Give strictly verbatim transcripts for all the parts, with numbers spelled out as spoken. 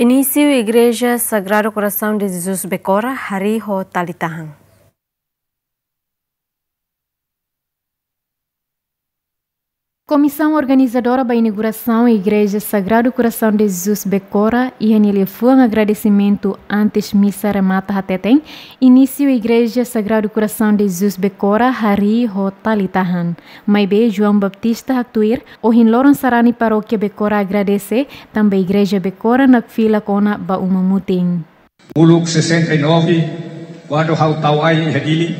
Inísiu Igreja Sagrado Coração de Jesus Becora, harii ho tali tahan. Komisaun organizadora ba inaugurasaun Igreja Sagrado Coração de Jesus Becora iha nia liafuan agradesimentu antes misa remata hateten, inísiu Igreja Sagrado Coração de Jesus Becora harii ho tali tahan. Maibé João Baptista haktuir, ohin loron sarani parókia Becora agradese, tanba Igreja Becora nakfilak ona ba uma mutin. Uluk sessenta e nove, kuandu ha'u tau ain iha Dili,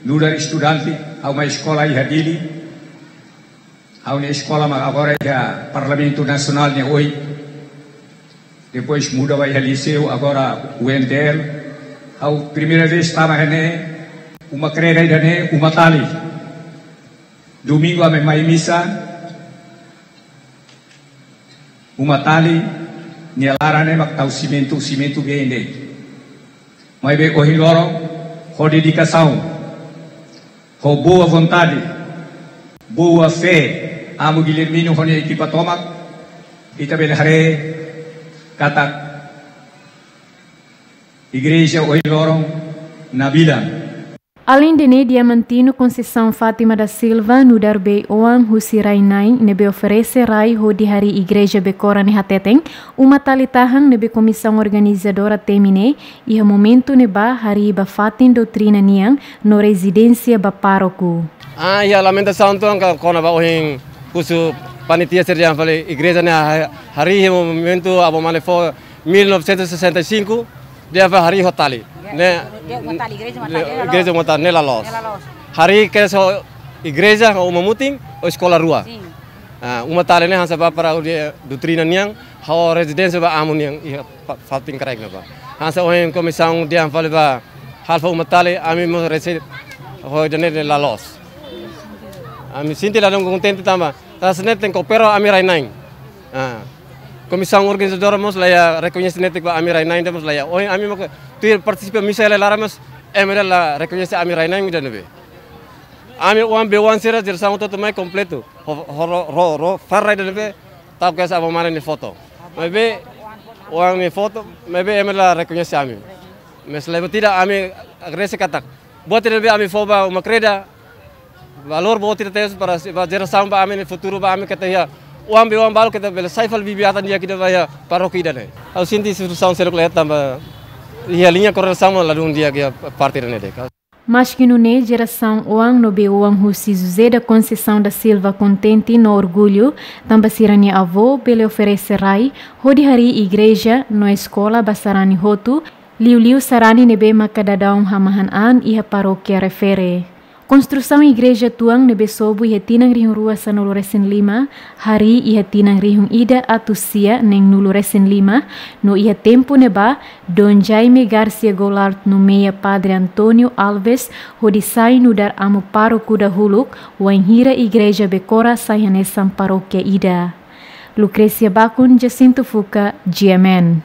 nu'udar estudante, ha'u mai eskola iha Dili, ha'u-nia eskola mak agora iha Parlamentu Nasionál nia oin. Depois muda ba iha Liseu, agora U N T L. Ha'u primeira vez tama iha ne'e, uma kreda ida-ne'e, uma tali. Domingu ami mai misa, uma tali nia laran ne'e mak tau simentu, simentu been de'it. Maibé ohin loron, ho dedikasaun, ho boa vontade, boa fé, Amu Guilhermino ho nia ekipa tomak, ita bele haree katak igreja ohin loron nabilan. Aleinde ne'e, Diamantino Conceição Fátima da Silva, nu'udar bei-oan husi rai-na'in ne'ebé oferese rai hodi harii Igreja Becora ne'e hateten, uma tali tahan ne'ebé komisaun organizadora temi ne'e iha momentu ne'ebá harii ba fatin doutrina nian no rezidénsia ba pároku. Ah, iha lamentasaun tuan ka kona-ba ohin husu panitia sira dehan fali igreja ne'e ha-, harii iha momentu Amu Mane fó mil novecentos e sessenta e cinco, dehan fali harii ho tali. Ne'e, Deus matali, igreja matali, ne'e la loos. Igreja matali, ne'e la loos. Ne'e la loos. Harii kedas ho igreja, ho uma mutin, ho eskola rua. Sin. Ah, uma tali ne'e hanesan ba para hodi doutrina nian, ho rezidénsia ba amu nian, iha fa-, fatin kraik ne'ebá. Hanesan ohin komisaun dehan fali ba halo fó uma tali, ami mós resebe, ho ida-ne'e la loos. Ami sente ladún kontente tanba, hanesan ne'e tenke koopera ho ami rai-na'in. Ah. Komisaun organizadora mós la iha rekoñese netik ba ami rai-na'in ida mós la iha. Ohin ami mós tuir partisipa misa iha laran mós, ema ida la rekoñese ami rai-na'in ida ne'ebé. Ami oan bei-oan sira jerasaun hotu-hotu mai kompletu. Ho, ho, ro, ro, ro, far rai ida ne'ebé, tau kedas Amu Mane nia foto. Maibé, oan nia foto, maibé ema la rekoñese ami. Mas laiha buat ida ami agradese katak buat ida ne'ebé ami fó ba uma kreda, valór boot ida tebes para si-, ba jerasaun ba ami nia futuru ba ami katak iha oan bei-oan balu katak bele sai fali bibi-atan di'ak ida ba iha parókia ida-ne'e. Ha'u sente situasaun seluk la iha tanba iha liña koordenasaun ladún di'ak iha parte ida-ne'e de'it. Maski nune'e, jerasaun oan no bei-oan husi José da Conceição da Silva kontente no orgullu, tanba sira-nia avó bele oferese rai hodi harii igreja no eskola ba sarani hotu, liuliu sarani ne'ebé maka daudaun hamahan an iha parókia refere. Konstrusaun igreja tuan ne'ebé sobu iha tinan rihun rua sanulu resin lima, harii iha tinan rihun ida atus sia neen-nulu resin lima, no iha tempu ne'ebá, Dom Jaime Garcia Goulart nomeia Padre António Alves hodi sai nu'udar amu pároku dahuluk, wainhira igreja Becora sai hanesan parókia ida. Lucrécia Bacon, Jacinto Fuca, G M N.